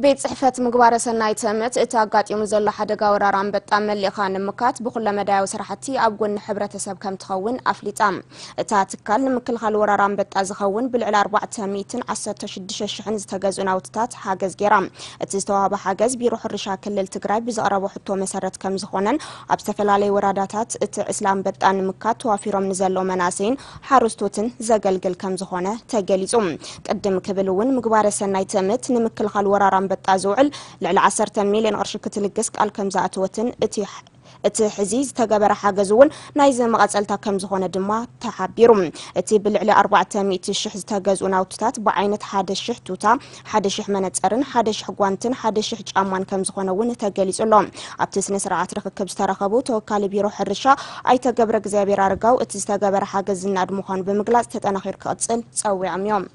ቤት ጽሕፈት ምግባረ ሰናይ ትእምት እቲ ኣጋጢሙ ዘሎ ሓደጋ ወራር ኣንበጣ መሊእኻ ንምካት ብኩለመዳያዊ ስራሕቲ ኣብ ጎኒ ሕብረተሰብ ከም ትኸውን ኣፍሊጣ። እታ ትካል ንምክልኻል ወራር ኣንበጣ ዝኸውን ብልዕሊ ኣርባዕተ ሚእትን ዓሰርተ ሽዱሽተ ሽሕን ዝተገዝኡ ናውትታት ሓገዝ ገይራ። እቲ ዝተዋህበ ሓገዝ ቢሮ ሕርሻ ክልል ትግራይ ብዘቕረቦ ሕቶ መሰረት ከም ዝኾነን ኣብ ዝተፈላለዩ ወራዳታት እቲ ዕስለ ኣንበጣ ንምካት ተዋፊሮም ንዘለዉ መናእሰይን ሓረስቶትን ዘገልግል ከም ዝኾነ ተገሊጹ። ቅድም ክብል እውን ምግባረ ሰናይ ትእምት ንምክልኻል ወራር ኣንበጣ ዝውዕል ልዕሊ ዓሰርተ ሚልዮን ቅርሺ ክትልግስ ቃል ከም ዝኣተወትን እቲ እቲ ሕዚ ዝተገበረ ሓገዝ እውን ናይዚ መቐጸልታ ከም ዝኾነ ድማ ተሓቢሩ። እቲ ብልዕሊ ኣርባዕተ ሚእቲ ሽሕ ዝተገዝኡ ናውትታት ብዓይነት ሓደ ሽሕ ቱታ፣ ሓደ ሽሕ መነጸርን ሓደ ሽሕ ጓንትን ሓደ ሽሕ ጫማን ከም ዝኾነ እውን ተገሊጹ ኣሎ። ኣብቲ ስነ ስርዓት ርኽክብ ዝተረኸቡ ተወካሊ ቢሮ ሕርሻ ኣይተ ገብረ እግዚኣብሔር ኣረጋው እቲ ዝተገበረ ሓገዝ ዝናድ ምዃኑ ብምግላጽ ተጠናኺሩ ክቕጽል ጸዊዖም እዮም።